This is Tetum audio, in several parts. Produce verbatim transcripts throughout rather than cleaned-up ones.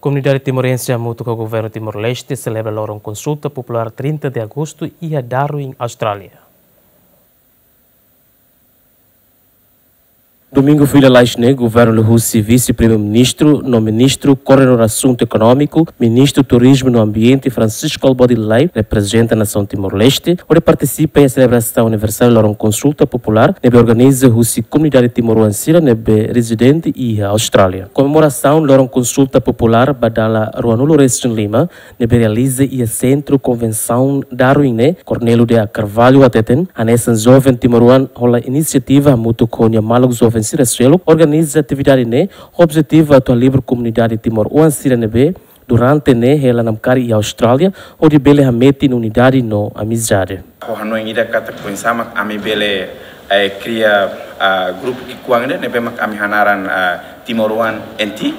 Komunidade timorense hamutuk ho Governu Timor-Leste selebra loron konsulta populár trinta de agostu iha Darwin, Austrália. Domingu fila lalais ne'e, Governu liuhusi Vise-Primeiru-Ministru no Ministru Koordenadór Asuntu Ekonómiku, Ministru Turizmu no Ambiente, Francisco Albuadelei, reprezenta nasaun Timor-Leste, hodi partisipa iha selebrasaun aniversáriu loron konsulta populár ne'ebé organiza husi komunidade timoroan sira ne'ebé rezidente iha Austrália. Komemorasaun loron konsulta populár ba dala ruanulu resin lima ne'ebé realiza iha Sentru Konvensaun Darwin ne'e, Cornélio de Carvalho hateten, hanesan joven timoroan hola inisiativa hamutuk ho nia maluk joven sira seluk organiza atividade ne'e, objetivu atu halibur komunidade timoroan sira ne'ebé durante ne'e hela namkari iha Austrália, hodi bele hametin unidade no amizade. Ho hanoin ida katak oinsá mak ami bele, eh, kria, ah, grupu ki'ikoan ida ne'ebé mak ami hanaran, ah, Timoroan N T.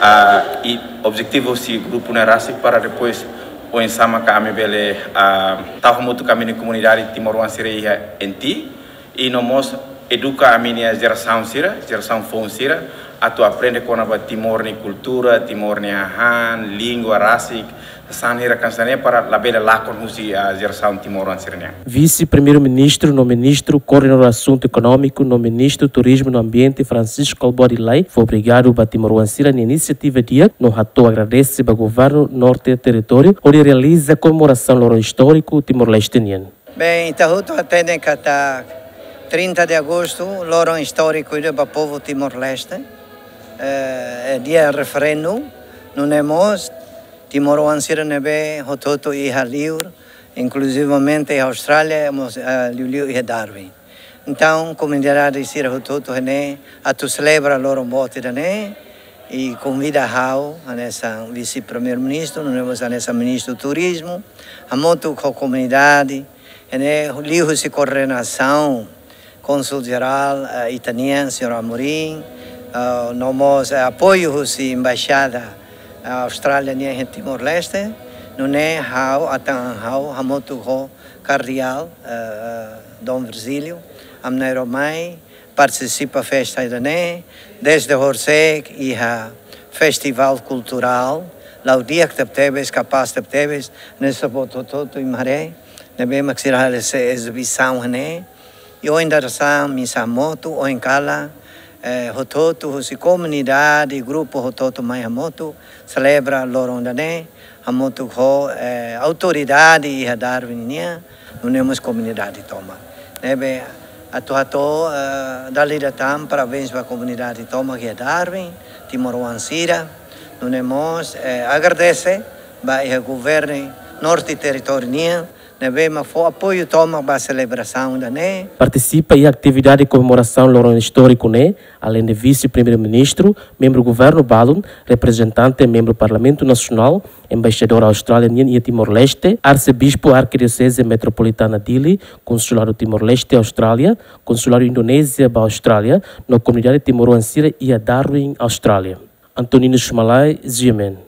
Ah, i objetivu husi grupu ne'e rasik para depois oinsá mak ami bele, ah, tau hamutuk ami-nia komunidade timoroan sira iha N T. I no mós eduka ami-nia jerasaun sira, jerasaun foun sira, atu aprende kona-ba Timor nia kultura, Timor nia hahán, língua rasik, sasán hirak hanesan ne'e para labele lakon husi, ah, jerasaun timoroan sira-nian. Vise-Primeiru-Ministru no Ministru Koordenadór Asuntu Ekonómiku no Ministru Turizmu no Ambiente, Francisco Albuadelei, fó obrigadu ba timoroan sira-nia inisiativa di'ak no hato'o agradese ba Governu Norte Territóriu hodi realiza komemorasaun loron istóriku Timor-Leste nian. Bem, ita hotu hatene katak trinta de agostu, loron istóriku ida ba povu Timor-Leste. Eh, é dia referendu, nune'e mós timoroan sira ne'ebé hotu-hotu iha liur, inklusivamente iha Austrália, mós, eh, liuliu iha Darwin. Entaun, komunidade sira hotu-hotu iha ne'e atu selebra loron boot ida-ne'e, i konvida ha'u, hanesan Vise-Primeiru-Ministru, nune'e mós hanesan Ministru Turizmu, hamutuk ho komunidade, ne'e liuhusi koordenasaun Kónsul Jerál, eh, ita-nian, señór Amorim, eh, no mós, eh, apoiu husi Embaixada, eh, Austrália nian iha Timor-Leste, nune'e ha'u, atan ha'u, hamutuk ho Kardeál, eh, eh, Dom Virgílio, ami na'in-rua mai, partisipa festa ida-ne'e, dezde horisehik iha festivál kulturál, la'o di'ak tebetebes, kapás tebetebes, ne'e sá boot hotu-hotu iha imi haree, ne'ebé mak sira halo ezibisaun ne'e, i ohin dadeer-saan, misa hamutuk, ohin kalan, eh, hotu-hotu, husi komunidade, grupu hotu-hotu mai hamutuk, selebra loron ida-ne'e, hamutuk ho, eh, autoridade iha Darwin nian, nune'e mós komunidade tomak. Ne'ebé atu hato'o, eh, dala ida tan, parabéns ba komunidade tomak iha Darwin, timoroan sira, nune'e mós, eh, agradese ba iha Governu Norte Territóriu nian, ne'ebé mak fó apoiu tomak ba selebrasaun ida-ne'e. Partisipa iha atividade komemorasaun loron istóriku ne'e, aleinde Vise-Primeiru-Ministru, membru Governu balun, reprezentante membru Parlamentu Nasionál, Embaixadór Austrália nian iha Timor-Leste, Arsebispu Arkidioseze Metropolitana Dili, Konsuladu Timor-Leste Austrália, Konsuladu Indonézia ba Austrália, no komunidade timoroan sira iha Darwin, Austrália. Antonino Sumalai, G M N.